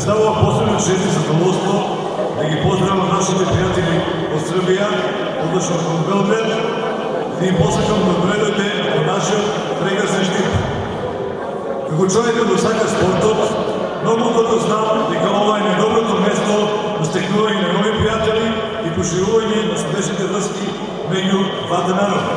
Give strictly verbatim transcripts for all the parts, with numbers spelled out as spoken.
представува посебно чест и задоволство да ги поздравам нашите пријатели од Србија, односно од Белград, да им посакам да дојдете во нашиот прекрасен Штип. Како човек кој сака спортот, многу добро знам дека ова е најдоброто место за стекнување на нови пријатели и поширување на срдечните врски меѓу двата народа.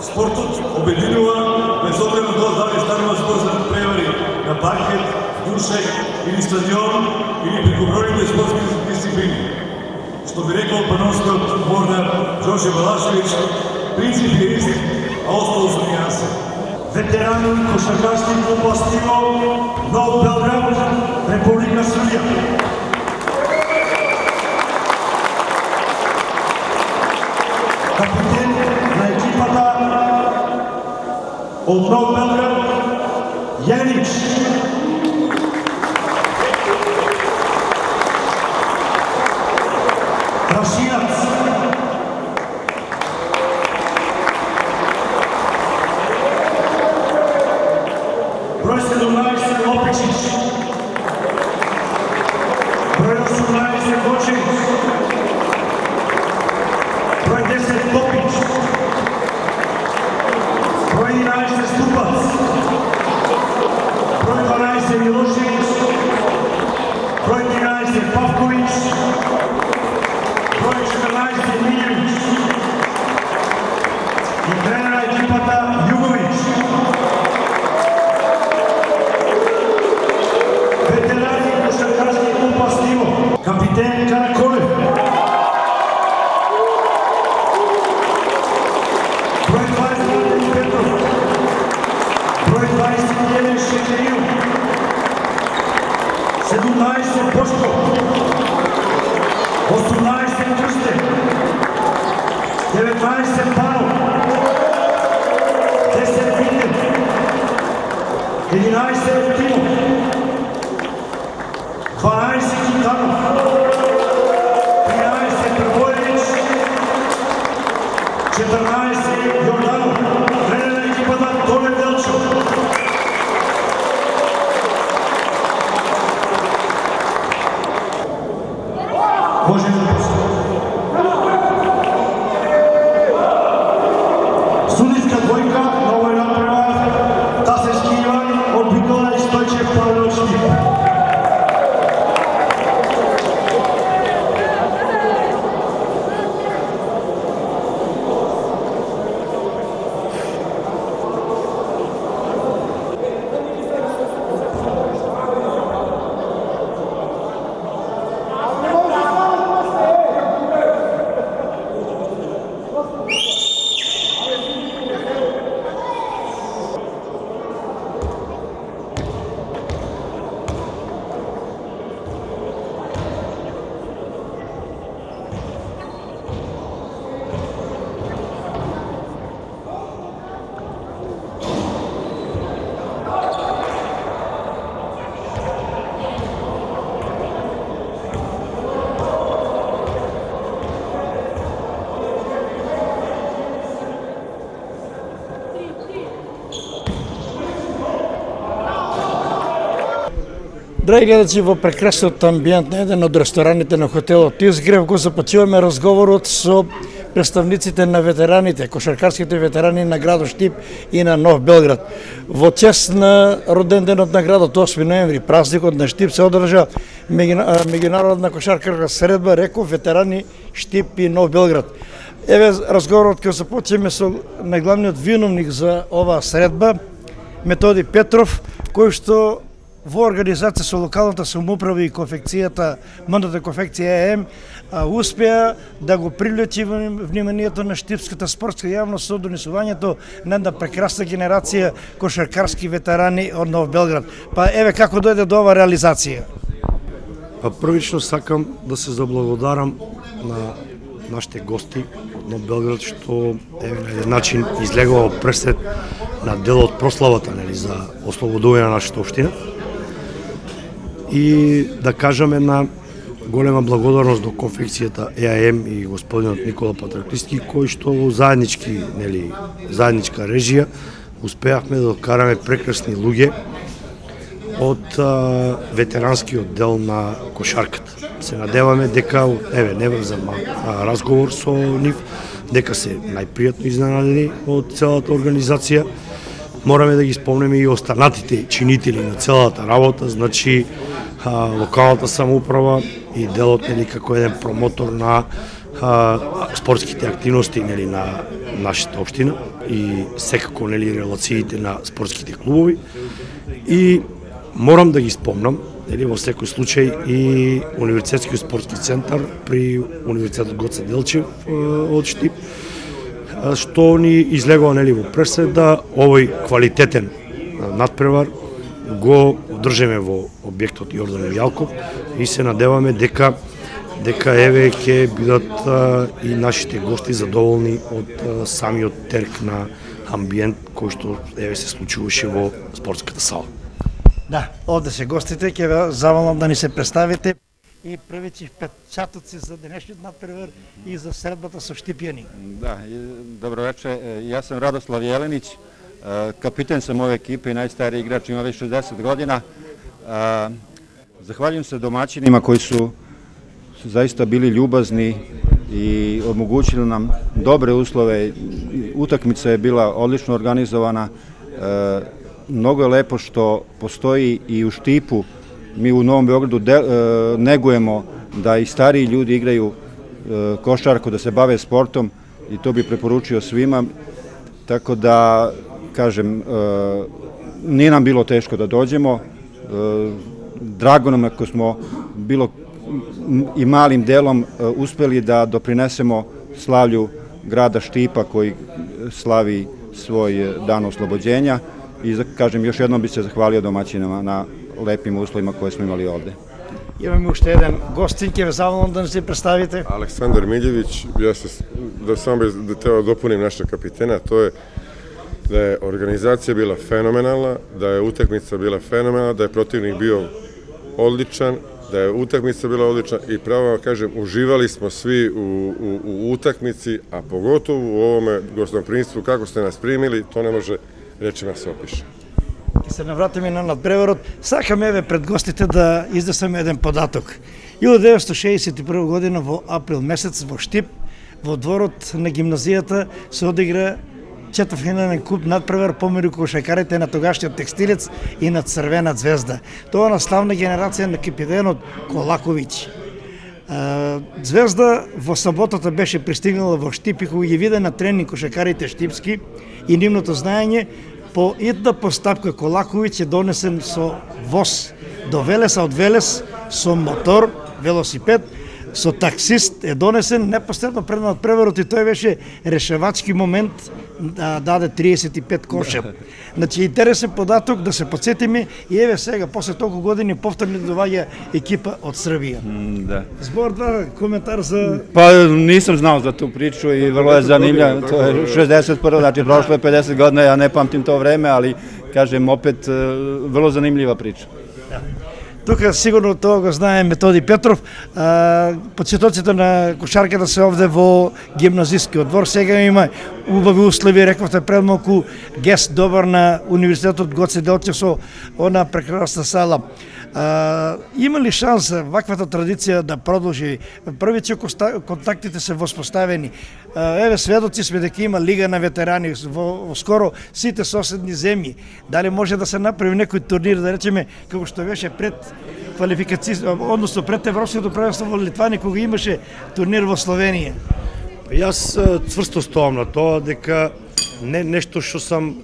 Спортот обединува без оглед на тоа дали станува спор за превари на паркет, душек или стадион или преку бројните спортски дисциплини. Што би рекол пановскиот бордар Џорџе Балашевиќ, принцип е ист, а остало се нюанси. Ветерани кошаркарски клуб Астиво, Нов Белград, Република Србија. Капитен на екипата од Нов Белград, Јанич. Крашинац. Број седумнаесет Лопичич. Број осумнаесет Гочевиќ. Број десет Топич. Број единаесет Ступац. Број дванаесет Милошевиќ. Број тринаесет Павковиќ. Број четрнаесет Мињевиќ. И тренер на екипата Југовиќ. Ветерани кошаркарски клуб Астиво, капитен Караколев. Број дваесет Петров. Број дваесет и еден Шекерил. седумнаесет Бошко. осумнаесет Крстев. деветнаесет Панов. десет Витев. единаесет Тимов. дванаесет Китанов. тринаесет Прбоевиќ. четрнаесет Јорданов. Тренер на екипата Толе Делчев. Може да судиска двојка на овој надпревар Тасешки Иван од Битола и Стојчев Павле од Штип. Драги гледачи, во прекрасниот амбиент на еден од рестораните на хотелот Изгрев го започуваме разговорот со представниците на ветераните, кошаркарските ветерани на градот Штип и на Нов Белград. Во чест на роден денот на градот осми ноември, празникот на Штип, се одржа меѓународна кошаркарска средба, реков ветерани Штип и Нов Белград. Еве разговорот ќе започнеме со најглавниот виновник за оваа средба, Методи Петров, кој што во организација со локалната самоуправа и конфекцијата, модната конфекција Е М, успеа да го привлечи вниманието на штипската спортска јавност со донесувањето на една прекрасна генерација кошаркарски ветерани од Нов Белград. Па еве како дојде до оваа реализација? Па првично сакам да се заблагодарам на нашите гости од Нов Белград што еве на еден начин излегува пресет на дел од прославата, нели, за ослободување на нашата општина. И да кажеме на голема благодарност до конфекцијата Е А М и господинот Никола Патраклиски, кои што во заеднички, нели, заедничка режија успеавме да докараме прекрасни луѓе од а, ветеранскиот дел на кошарката. Се надеваме дека, еве, не врзам разговор со нив, дека се најпријатно изненадени од целата организација. Мораме да ги спомнеме и останатите чинители на целата работа, значи а, локалната самоуправа и делот нели како еден промотор на а, спортските активности нели на нашата општина и секако нели релациите на спортските клубови. И морам да ги спомнам нели во секој случај и Универзитетскиот спортски центар при Универзитетот Гоце Делчев од Штип, што ни излегува нели во пресед да овој квалитетен надпревар го одржеме во објектот Јордан Јалков и се надеваме дека дека еве ќе бидат а, и нашите гости задоволни од а, самиот терк на амбиент кој што еве се случуваше во спортската сала. Да, овде се гостите, ќе ве заволам да ни се представите и првите впечатоци за денешниот надпревар и за средбата со Штипјани. Да, добро вече. Јас сам Радослав Јелениć, капитен сам ове екипе и најстари играч, има веќе шездесет година. Захвалjujem се домаќинима кои су su zaista bili ljubazni i omogućili nam dobre uslove. Utakmica je bila odlično organizovana. E, mnogo je lepo što postoji i u Štipu. Mi u Novom Beogradu de, e, negujemo da i stariji ljudi igraju e, košarku, da se bave sportom i to bi preporučio svima. Tako da, kažem, e, nije nam bilo teško da dođemo. E, drago nam ako smo bilo i malim delom uspeli da doprinesemo slavlju grada Štipa koji slavi svoj dan oslobođenja i kažem još jednom bi se zahvalio domaćinama na lepim uslovima koje smo imali ovde. Имаме уште еден гостин, ќе ве заволам да не се представите. Александар Милјевиć, ja se da samo da treba dopunim našeg kapitena, to je da je organizacija bila fenomenalna, da je utakmica bila fenomenalna, da je protivnik bio odličan, da je utakmica bila odlična i pravo kažem, uživali smo svi u, u, u utakmici, a pogotovo u ovome gostoprimstvu, kako ste nas primili, to ne može rečima se opiše. Ќе се навратиме на надпреварот. Сакаме еве пред гостите да изнесеме еден податок. илјадесетстотини шеесет и прва година во април месец во Штип, во дворот на гимназијата се одигра четвртфинален куп надпревар помеѓу кошаркарите на тогашниот Текстилец и на Црвена звезда. Тоа на славна генерација на капитенот Колаковиќ. Звезда во саботата беше пристигнала во Штип и кога ги виде на тренинг кошаркарите штипски и нивното знаење, по една постапка Колаковиќ е донесен со воз до Велеса, од Велес со мотор, велосипед, со таксист е донесен непосредно пред надпреварот и тој беше решавачки момент да даде триесет и пет коша. Значи интересен податок да се подсетиме и еве сега после толку години повторно доаѓа екипа од Србија. Mm, да. Збор два коментар за Pa nisam znao za tu priču i vrlo je zanimljivo. To je šezdeset prva, znači prošlo je pedeset godina, ja ne pamtim to vreme, ali kažem opet vrlo zanimljiva priča. Да. Тука сигурно тоа го знае Методи Петров. Подсетоците на кошарката се овде во гимназискиот двор. Сега има убави услови, рековте пред малку, гест добар на Универзитетот Гоце Делчев со она прекрасна сала. А, има ли шанса ваквата традиција да продолжи? Првите контактите се воспоставени. А, еве сведоци сме дека има Лига на ветерани во, во скоро сите соседни земји. Дали може да се направи некој турнир, да речеме, како што беше пред квалификација, односно пред Европското првенство во Литвани, кога имаше турнир во Словенија? Јас цврсто стоам на тоа дека не нешто што сам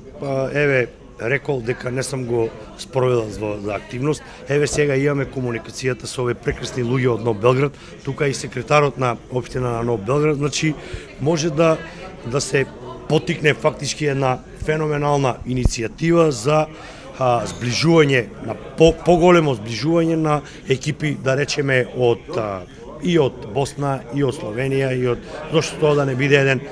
еве рекол дека не сам го спроведал за активност. Еве сега имаме комуникацијата со овие прекрасни луѓе од Нов Белград, тука и секретарот на општина на Нов Белград, значи може да да се потикне фактички една феноменална иницијатива за а, зближување на по, поголемо зближување на екипи, да речеме од а, и од Босна, и од Словенија, и од зошто тоа да не биде еден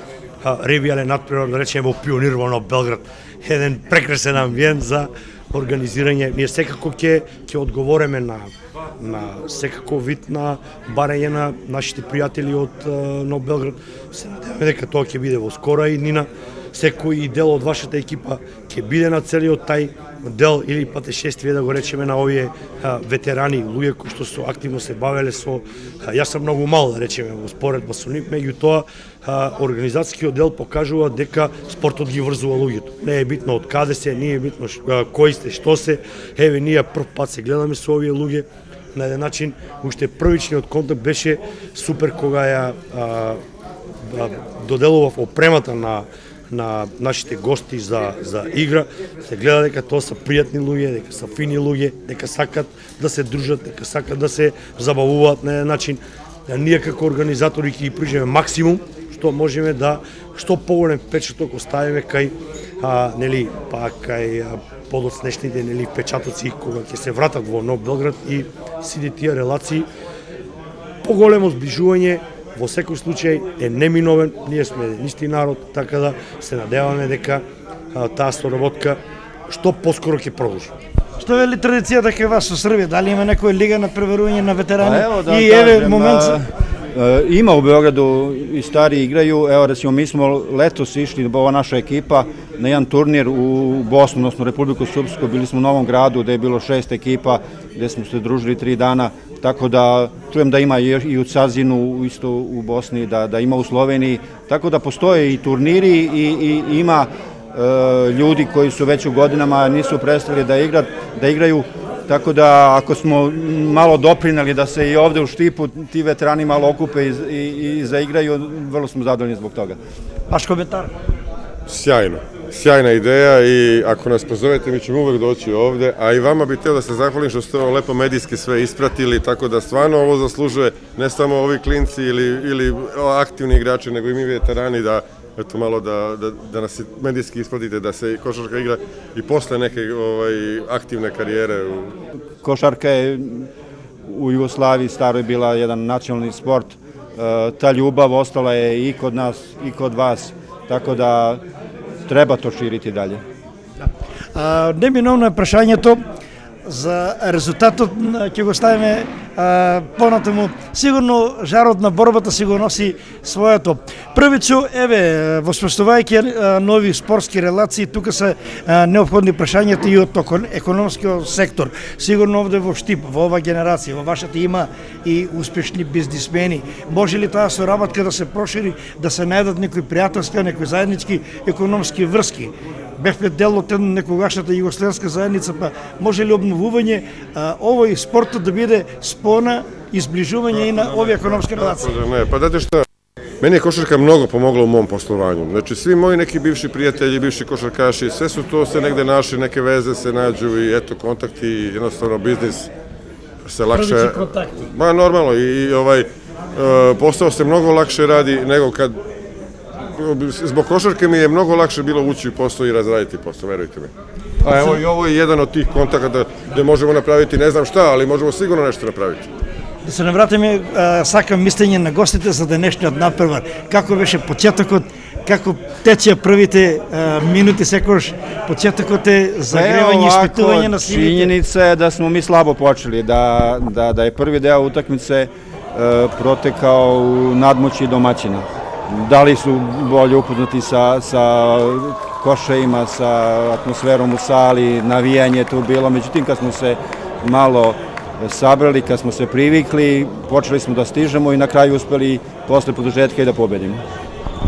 а, ревијален надпревар, да речеме во Пионир во Нов Белград, еден прекрасен амбиент за организирање. Ние секако ќе ќе одговориме на на секако вид на барање на нашите пријатели од uh, Нов Белград. Се надеваме дека тоа ќе биде во скора иднина. Секој дел од вашата екипа ќе биде на целиот тај дел или патешествие, да го речеме, на овие ветерани, луѓе кои што со активно се бавеле со... Јас сум многу мал, да речеме, во споредба со нив, меѓутоа организацијскиот дел покажува дека спортот ги врзува луѓето. Не е битно од каде се, не е битно кои сте, што се. Еве, ние прв пат се гледаме со овие луѓе. На еден начин, уште првичниот контакт беше супер кога ја а, а, доделував опремата на на нашите гости за за игра. Се гледа дека тоа се пријатни луѓе, дека се фини луѓе, дека сакат да се дружат, дека сакат да се забавуваат на еден начин. Ние како организатори ќе ги прижеме максимум што можеме да што поголем печаток оставиме кај а, нели па кај подоцнешните нели печатоци кога ќе се вратат во Нов Белград и сите тие релации. Поголемо зближување во секој случај е неминовен, ние сме исти народ, така да се надеваме дека а, таа соработка што поскоро ќе продолжи. Што вели традицијата кај вас со Србија? Дали има некоја лига на преварување на ветерани? Pa evo, da и еве kažem, момент a, ima u Beogradu i stari igraju. Evo, recimo, mi smo letos išli, ova naša ekipa, na jedan turnir u Bosnu, odnosno Republiku Srpsku. Bili smo u Novom Gradu gde je bilo šest ekipa, gde smo se družili tri dana. Tako da čujem da ima i u Cazinu, isto u Bosni, da, da ima u Sloveniji. Tako da postoje i turniri i, i ima e, ljudi koji su već u godinama nisu prestali da, igra, da igraju. Tako da ako smo malo doprineli da se i ovde u Štipu ti veterani malo okupe i, i, i zaigraju, vrlo smo zadovoljni zbog toga. Vaš komentar? Sjajno. Sjajna ideja i ako nas pozovete mi ćemo uvek doći ovde, a i vama bih hteo da se zahvalim što ste ovo lepo medijski sve ispratili, tako da stvarno ovo zaslužuje ne samo ovi klinci ili, ili aktivni igrači, nego i mi veterani da eto malo da, da, da nas medijski ispratite, da se košarka igra i posle neke ovaj, aktivne karijere. Košarka je u Jugoslaviji staroj bila jedan nacionalni sport, ta ljubav ostala je i kod nas i kod vas, tako da treba to ширити дале. А, неминовно е прашањето за резултатот, ќе го ставиме а, понатаму. Сигурно жарот на борбата си го носи своето. Првичу, еве, воспоставувајќи нови спортски релации, тука се а, необходни прашањата и од економскиот сектор. Сигурно овде во Штип, во ова генерација, во вашата има и успешни бизнисмени. Може ли таа соработка да се прошири, да се најдат некои пријателски, некои заеднички економски врски? Бевме дел од некогашната југославска заедница, па може ли обновување а, овој спортот да биде спона и зближување и на овие економски релации? Не, па дате што, meni je košarka mnogo pomogla u mom poslovanju. Znači, svi moji neki bivši prijatelji, bivši košarkaši, sve su to se negde našli, neke veze se nađu i eto, kontakti, jednostavno biznis se lakše... Prvići kontakti. Ma, normalno, i, i ovaj, posao se mnogo lakše radi nego kad... Zbog košarke mi je mnogo lakše bilo ući u posao i razraditi posao, verujte mi. A evo i ovo je jedan od tih kontakata gde možemo napraviti ne znam šta, ali možemo sigurno nešto napraviti. Да се навратиме, сакам мислење на гостите за денешниот надпревар. Како беше почетокот, како тече првите а, минути, секогаш почетокот е загревање и испитување на силите. Činjenica je da smo mi slabo počeli, da, da, da je prvi deo utakmice e, protekao u nadmoći domaćina. Da li su bolje upoznati sa, sa košejima, sa atmosferom u sali, navijanje tu bilo, međutim kad smo se malo sabrali, kad smo se privikli, počeli smo da stižemo i na kraju uspeli posle produžetka i da pobedimo.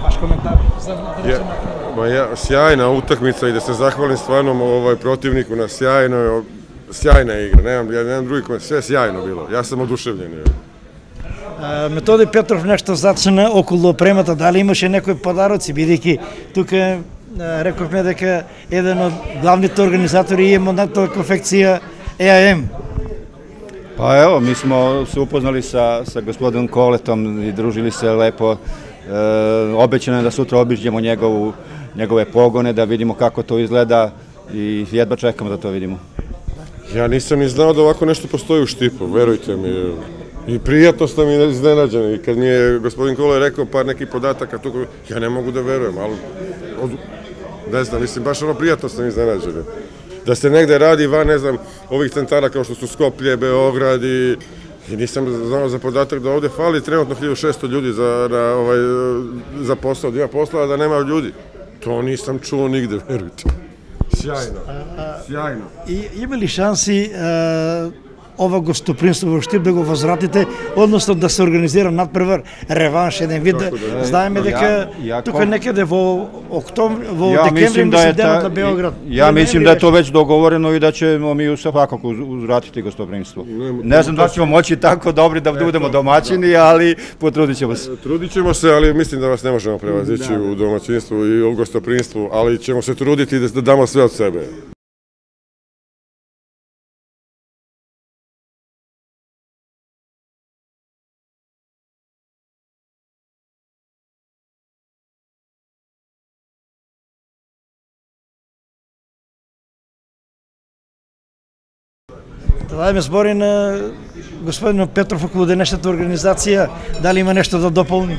Vaš komentar za Ja, ma ja, sjajna utakmica i da se zahvalim stvarno ovaj protivniku na sjajnoj, sjajna igra, nemam, ja nemam drugi komentar, sve sjajno bilo, ja sam oduševljen. Методи Петров нешто зачина околу опремата, дали имаше некои подароци, бидејќи тука рековме дека еден од главните организатори е модната конфекција Е А Ем. Pa evo, mi smo se upoznali sa, sa gospodinom Koletom i družili se lepo. E, obećano je da sutra obiđemo njegovu, njegove pogone, da vidimo kako to izgleda i jedva čekamo da to vidimo. Ja nisam ni znao da ovako nešto postoji u Štipu, verujte mi. I prijatno sam mi iznenađen. I kad mi je gospodin Kole rekao par nekih podataka, tu, ja ne mogu da verujem, ali od, ne znam, mislim, baš ono prijatno sam iznenađen. Da se negde radi van, ne znam, ovih centara kao što su Skoplje, Beograd i, i nisam znao za podatak da ovde fali trenutno hiljadu šesto ljudi za, na, ovaj, za posao, da ima posla, a da nema ljudi. To nisam čuo nigde, verujte. Сјајно. Сјајно. И има ли шанси а, ова гостопримство во Штип да го возвратите, односно да се организира надпревар, реванш, еден вид. Да, знаеме дека тука некаде во октомври, во ја декември да мислам денот на Белград. Ја мислим да е тоа веќе договорено и да ќе ми свакако узвратите гостопримство. Не знам дали ќе моќи тако добри да будеме домаќини, али потрудиќемо се. Трудиќемо се, али мислим да вас не можеме превазичи у домаќинству и у гостопримству, али ćemo се трудити да дамо све од себе. Да дадеме збори на господин Петров околу денешната организација, дали има нешто да дополни?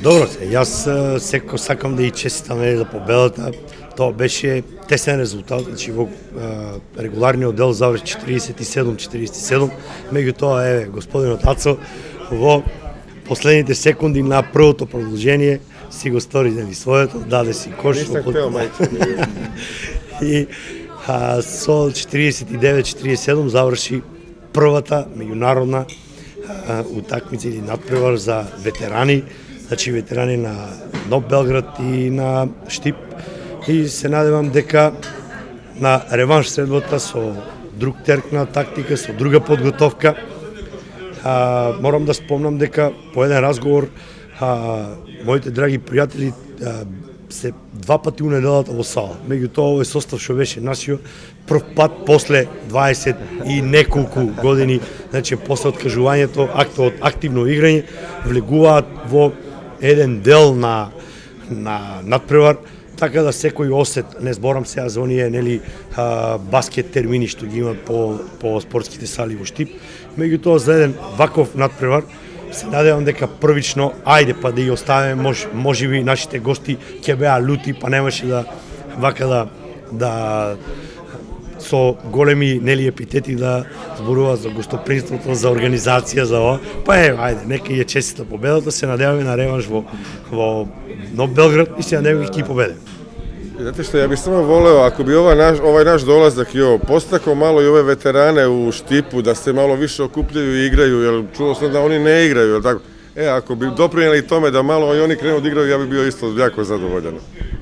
Добро се, јас секој сакам да и честитам за победата. Тоа беше тесен резултат, значи во регуларниот дел заврши четиридесет и седум четиридесет и седум, меѓутоа еве господинот Ацо во последните секунди на првото продолжение си го стори нели своето, даде си кош. Нисам хтео, мајче. И а, со четиридесет и девет четиридесет и седум заврши првата меѓународна а, утакмица или надпревар за ветерани, значи ветерани на Нов Белград и на Штип. И се надевам дека на реванш следбата со друг терк на тактика, со друга подготовка. А, морам да спомнам дека по еден разговор а, моите драги пријатели а, се два пати у неделата во сала. Меѓутоа овој состав што беше нашиот прв пат после дваесет и неколку години, значи после откажувањето, актот активно играње, влегуваат во еден дел на на надпревар, така да секој осет, не зборам сега за оние нели а, баскет термини што ги имат по по спортските сали во Штип, меѓутоа за еден ваков надпревар се надевам дека првично, ајде па да ја оставиме, мож, можеби нашите гости ќе беа лути, па немаше да вака да да со големи нели епитети да зборува за гостопримството, за организација, за ова. Па е, ајде, нека ја честита победата, се надеваме на реванш во во Нов Белград и се надеваме ќе победиме. Znate što, ja bih samo voleo, ako bi ovaj naš, ovaj naš dolazak i ovo postakao malo i ove veterane u Štipu, da se malo više okupljaju i igraju, jer čuo sam da oni ne igraju, jel tako? E, ako bi doprinjeli tome da malo i oni krenu da igraju, ja bih bio isto jako zadovoljan.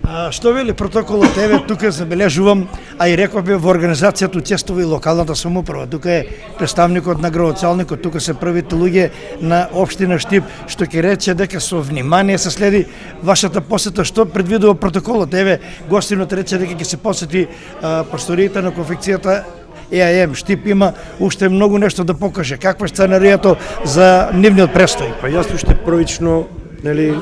А, што вели протоколот? Еве тука забележувам, а и рековме во организацијата учествува и локалната самоуправа. Тука е представникот на градоначалникот, тука се првите луѓе на општина Штип, што ќе рече дека со внимание се следи вашата посета. Што предвидува протоколот? Еве гостинот рече дека ќе се посети а, просториите на конфекцијата Е А Ем. Штип има уште многу нешто да покаже. Каква е сценаријата за нивниот престој? Па јас уште првично, нели,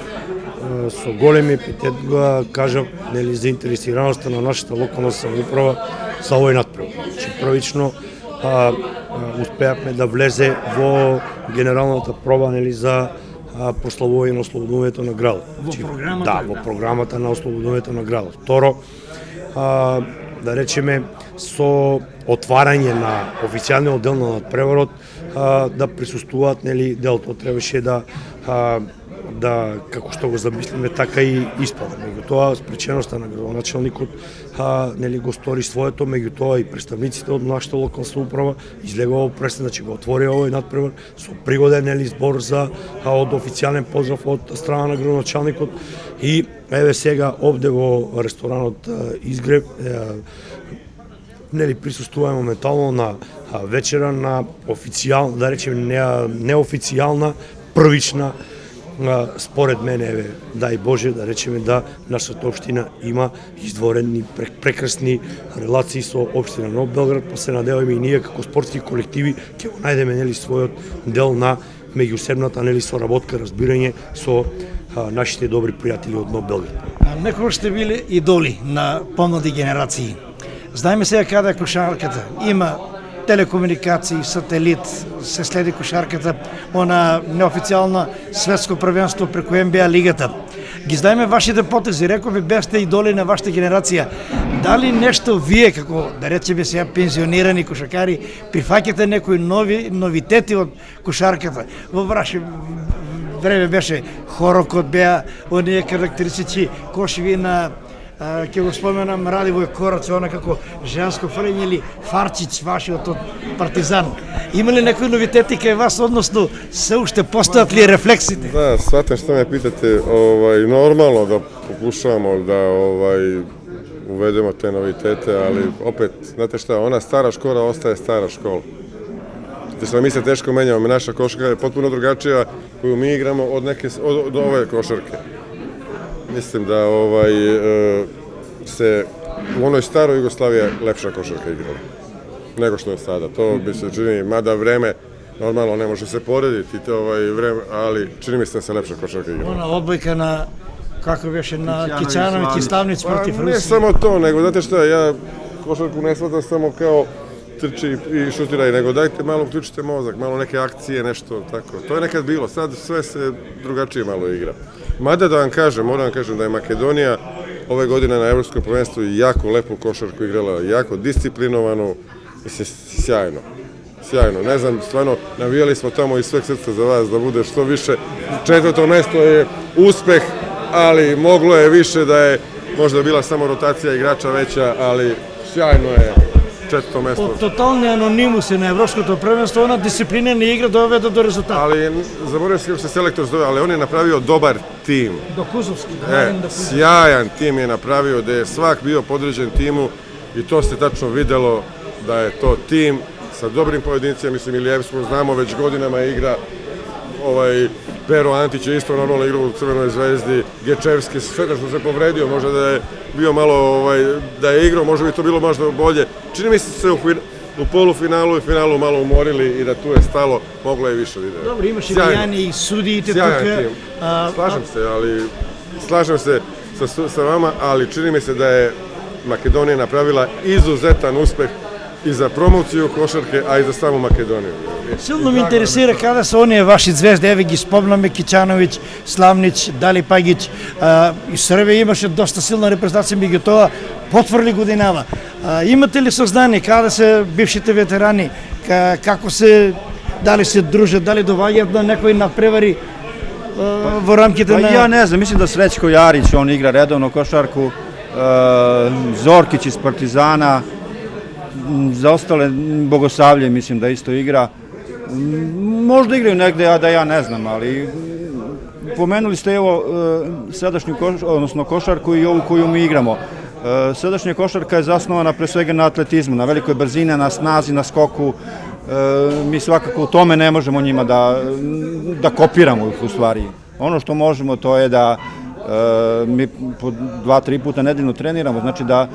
со големи епитет го кажам, нели, заинтересираноста на нашата локална самоуправа за овој надпревар. Значи првично а, а, успеавме да влезе во генералната проба, нели, за прославување на ослободувањето на градот. Во програмата? Да, во програмата на ослободувањето на градот. Второ, а, да речеме, со отварање на официјалниот дел на надпреварот а, да присуствуваат, нели, делото требаше да а, да, како што го замислиме, така и испада. Меѓутоа, спреченоста на градоначалникот а, нели, го стори своето, меѓутоа и представниците од нашата локална самоуправа излегува пресен, значи го отвори овој надпревар со пригоден, нели, збор за а, од официјален поздрав од страна на градоначалникот. И еве сега овде во ресторанот а, Изгреб а, нели, присуствуваме моментално на а, вечера на официјална, да речеме не, неофицијална, првична, според мене, еве, дај Боже, да речеме да нашата општина има издворени прекрасни релации со општина Нов Белград, па се надеваме и ние како спортски колективи ќе го најдеме, нели, својот дел на меѓусебната, нели, соработка, разбирање со а, нашите добри пријатели од Нов Белград. Некој сте били идоли на помлади генерации. Знаеме сега каде е кошарката. Има телекомуникации, сателит, се следи кошарката, она неофицијална светско првенство преку Н Б А лигата. Ги знаеме вашите потези, рекови бевте идоли на вашата генерација. Дали нешто вие, како да речеме сега пензионирани кошаркари, прифаќате некои нови новитети од кошарката? Во ваше време беше хорокот, беа оние карактеристични кошеви на ќе го споменам Радивој Корац, она како женско фрлење или Фарчич, вашиот од Партизан. Има ли некои новитети кај вас, односно се уште постојат ли рефлексите? Да, сватам што ме питате, ovaj, normalno da pokušavamo da ovaj, uvedemo te novitete, ali opet, znate šta, ona stara škola ostaje stara škola. Znate šta, mi se teško menjamo, naša košarka je potpuno drugačija koju mi igramo od, neke, od, od ove košarke. Mislim da ovaj, se u onoj staroj Jugoslaviji lepša košarka igrala nego što je sada. To bi se čini, mada vreme normalno ne može se porediti, to ovaj vreme, ali čini mi se da se lepša košarka igrala. Ona odbojka na, kako беше, na Kićanović i Slavnić protiv Rusije. Ne samo to, nego znate šta, ja košarku ne shvatam samo kao trči i šutiraj, nego dajte malo uključite mozak, malo neke akcije, nešto tako. To je nekad bilo, sad sve se drugačije malo igra. Mada da vam kažem, moram vam kažem da je Makedonija ove godine na Evropskom prvenstvu jako lepu košarku igrala, jako disciplinovanu, mislim, sjajno. Sjajno, ne znam, stvarno navijali smo tamo iz sveg srca za vas da bude što više. Četvrto mesto je uspeh, ali moglo je više da je možda bila samo rotacija igrača veća, ali sjajno je četvrto mesto. Од тотални анонимуси на Европското првенство, она дисциплинирана игра доведе до резултат. Ali, zaboravio se kako se selektor zove, ali on je napravio dobar tim. До Кузовски. E, sjajan tim je napravio, gde je svak bio podređen timu i to se tačno videlo da je to tim sa dobrim pojedincima, mislim, Ilijevsku znamo već godinama igra, ovaj, Pero Antić je isto normalno igrao u Crvenoj zvezdi, Gečevski sve što se povredio, možda da je bio malo, ovaj, da je igrao, možda bi to bilo možda bolje. Čini mi se se u, u polufinalu i finalu malo umorili i da tu je stalo, moglo je više da ide. Dobro, imaš i Vijani i sudijite tuka. Sjajan tim, slažem se, ali slažem se sa, sa vama, ali čini mi se da je Makedonija napravila izuzetan uspeh i za promociju košarke, a i za samu Makedoniju. Силно ме интересира каде се оние ваши звезди, еве ги спомнаме Киќановиќ, Славнич, Дали Пагиќ. И Србија имаше доста силна репрезентација, меѓутоа потврли годинава. А, имате ли сознание каде се бившите ветерани, како се, дали се дружат, дали доваѓаат на некои надпревари во рамките на... Ja ne znam, mislim da Srećko Jarić, on igra redovno košarku, Zorkić iz Partizana, za ostale Bogosavlje mislim da isto igra. Možda igraju negde, a da ja ne znam, ali pomenuli ste evo sadašnju odnosno košarku i ovu koju mi igramo. Sadašnja košarka je zasnovana pre svega na atletizmu, na velikoj brzini, na snazi, na skoku. Mi svakako u tome ne možemo njima da, da kopiramo ih u stvari. Ono što možemo to je da mi po dva, tri puta nedeljno treniramo, znači da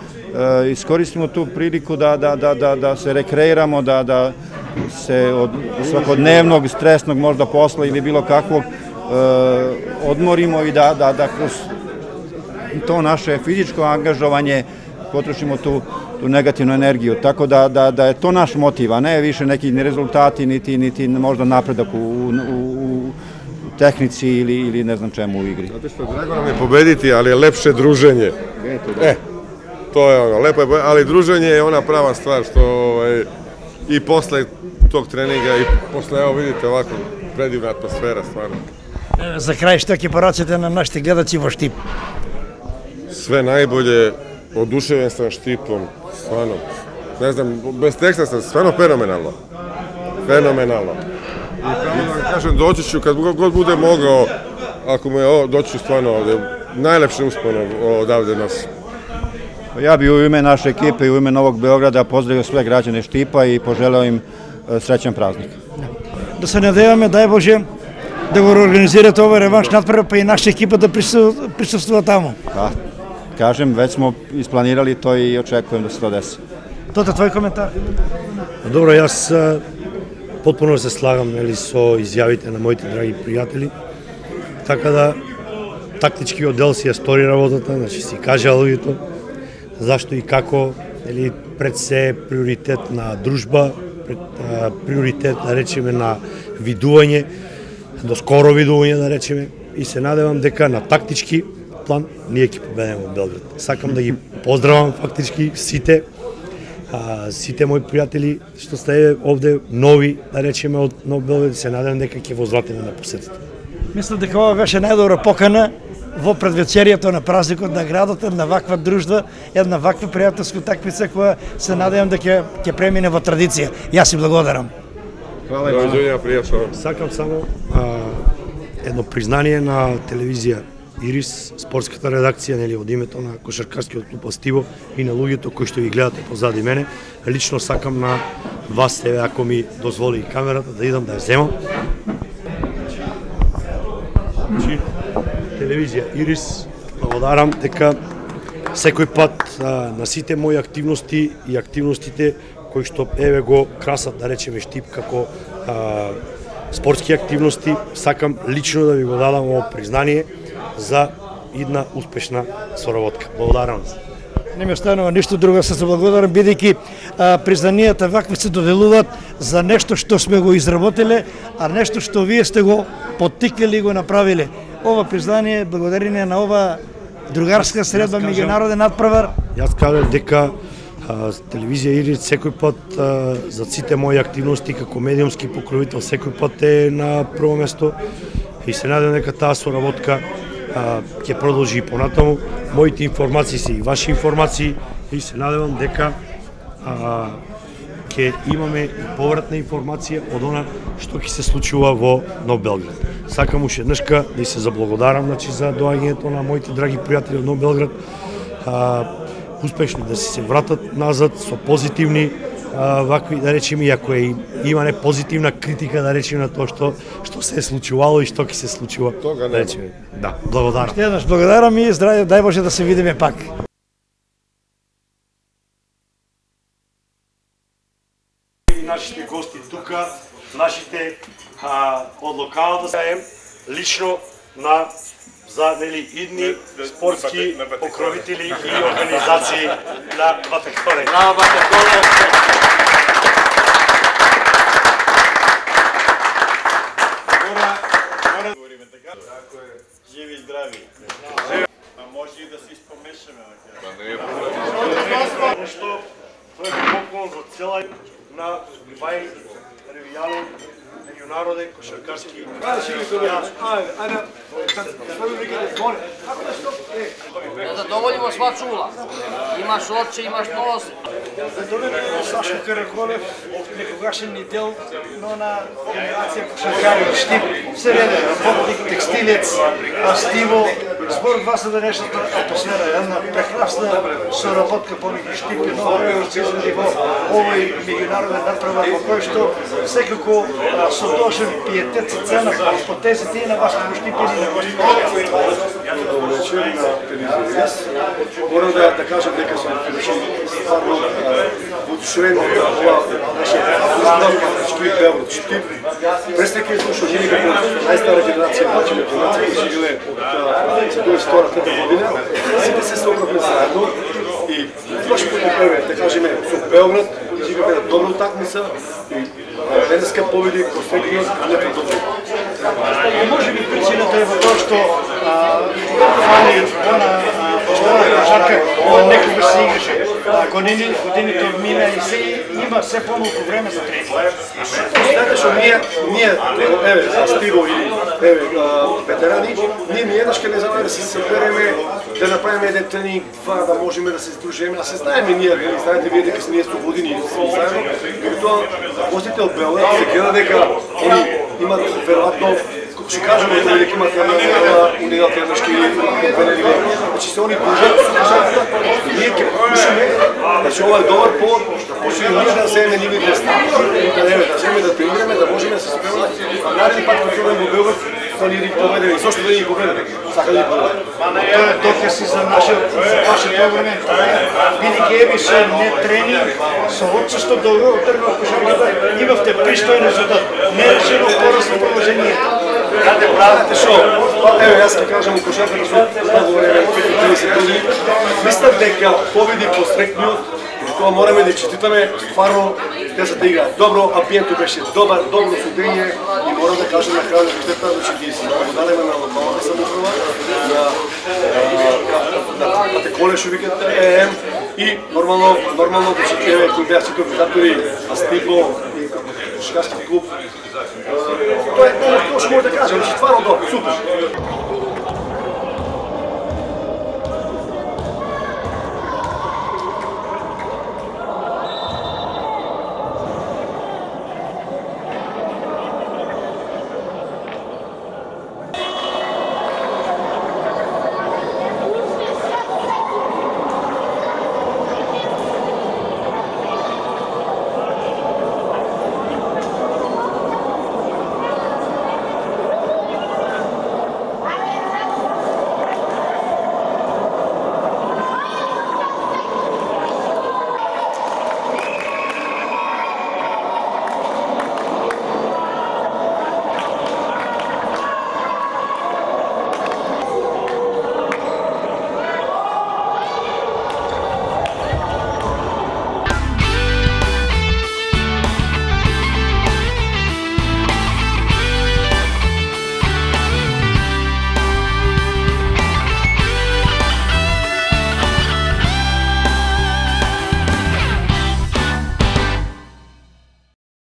iskoristimo tu priliku da, da, da, da, da se rekreiramo, da, da se od svakodnevnog, stresnog možda posla ili bilo kakvog odmorimo i da, da, da kroz to naše fizičko angažovanje potrošimo tu, tu negativnu energiju. Tako da, da, da je to naš motiv, a ne više neki ni rezultati, niti, niti možda napredak u, u, u tehnici ili, ili ne znam čemu u igri. Znate što, drago nam je pobediti, ali je lepše druženje. E, to je ono, lepo je, ali druženje je ona prava stvar što ovaj, i posle tog treninga i posle, evo vidite ovako, predivna atmosfera stvarno. За крај, што ќе порачате на нашите гледачи во Štip? Sve najbolje, oduševljen sam Štipom, stvarno, ne znam, bez teksta sam, stvarno fenomenalno, fenomenalno. I pravo da kažem, doći ću kad god bude mogao, ako mu je ovo, doći ću stvarno ovde, najlepše uspone odavde nas. Ja bih u ime naše ekipe i u ime Novog Beograda pozdravio sve građane Štipa i poželeo im srećan praznik. Да се надеваме, дај Боже, да го организирате овој реванш надпревар, па и наша екипа да присуствува таму. Da, kažem, već smo isplanirali to i očekujem da se to desi. Тоа твој коментар? Добро, јас потпуно се слагам нели, со изјавите на моите драги пријатели, така да тактички оддел си ја стори работата, значи си кажа луѓето зашто и како, нели, пред се приоритет на дружба, пред, а, приоритет, да речеме, на видување, до скоро видување, да речеме, и се надевам дека на тактички план ние ќе победиме во Белград. Сакам да ги поздравам фактички сите, а, сите мои пријатели што сте овде нови, да речеме, од Нов Белград, се надевам дека ќе возвратиме на посетата. Мислам дека ова беше најдобра покана во предвечерието на празникот на градот, една ваква дружба, една ваква пријателска такмица која се надевам да ќе ќе премине во традиција. Јас си благодарам. Хвала. Довиđenja, пријатно. Сакам само а, едно признание на телевизија Ирис, спортската редакција, нели, од името на кошаркарскиот клуб Астиво и на луѓето кои што ги гледате позади мене. Лично сакам на вас, еве, ако ми дозволи камерата, да идам да ја земам. Значи, телевизија Ирис, благодарам дека секој пат а, на сите мои активности и активностите кои што еве го красат, да речеме, Штип како а, спортски активности, сакам лично да ви го дадам ово признание за една успешна соработка. Благодарам се. Не ми останува ништо друго, се заблагодарам, бидејќи признанијата вакви се доделуваат за нешто што сме го изработиле, а нешто што вие сте го поттикнали и го направиле. Ова признание благодарение на ова другарска средба меѓународен надпревар. Јас кажам дека а, телевизија Ирис секој пат а, за сите мои активности како медиумски покровител секој пат е на прво место и се надевам дека таа соработка ќе продолжи и понатаму. Моите информации се и ваши информации и се надевам дека ќе имаме и повратна информација од она што ќе се случува во Нов Белград. Сакам уште еднашка да се заблагодарам, значи, за доаѓањето на моите драги пријатели од Нов Белград. А, успешни да се вратат назад со позитивни а, вакви, да речеме, иако е има не позитивна критика, да речеме, на тоа што што се е случувало и што ќе се случува. Тога да речеме. Да, благодарам. Ще еднаш благодарам и здравје, дај Боже да се видиме пак. И нашите гости тука, нашите а, од локалната заем, лично на за, нели, идни спортски покровители и организации на Ватеколе. Браво, Ватеколе! Живи и здрави. А може и да се изпомешаме. Нешто, тоа е поклон за цела на Вај ревијален меѓународен кошаркарски. Да задоволимо сва чула. Имаш очи, имаш нос. Сашо Караколев, некогашен идел, но на генерација кошаркари од Штип, се реде, работник, текстилец, Астиво, збор два за денешната атмосфера, една прекрасна соработка помеѓу Штип и Нов Белград во овој меѓународен надпревар во кој што секако со дошен пиетет се цена по тезите и на вашите Штип и на вашите. Добро вечер на телевизија. Морам да да кажам дека сум стварно воодушевен од ова наше Штип Белград. Штип престајќи слушам жени како најстара генерација, значи генерација која живее од дваесет и втората година, сите се собравме заедно и прошло пut да кажеме со Белград изиграме една добра утакмица и денеска победи конфектно не продолжува. Може би причината е во тоа што фали она поштена кошарка некогаш се играше. Години, годините мина и се има се помалку време за тренинг. Знаете што ние, ние, еве, Астиво и еве, ветерани, ние ниеднаш ке не знаме да се събереме, да направиме еден тренинг, два, да можеме да се сдружиме, а се знаеме ние, знаете вие дека ние сто години сме заедно, меѓутоа гостите од Белград се гледа дека они имат веројатно, како ќе кажеме, дека имат униделателнашки конференции, значи се они дружат, ние ќе покушаме, значи ова е добар повод да почнеме ние да земеме нивните стави, да земеме да тренираме, да можеме да се спремаме, а нареден пат кога ќе во Белград, да ни ги победеме, и зошто да ни ги победеме? Сака да ни победеме. Тоа е доказ и за нашиот вашето време. Бидејќи еви со не тренинг, со отсуство долго тргнав кошарката, имавте пристоен резултат. Не решено порасно положение. Каде правите шо? Еве, јас ќе кажам у кошарката со много време, триесет години. Мислам дека победи пострекниот, и тоа мораме да честитаме, стварно тезата игра. Добро, амбиентот беше добар, добро судење и морам да кажам на крајот на штета, значи ги се благодариме на локалната самоуправа, на Ватеколе што викат ЕМ и нормално, нормално да се еве кои беа сите организатори, Астиво и кошаркарски клуб. Тоа е тоа што може да кажам, стварно добро, супер.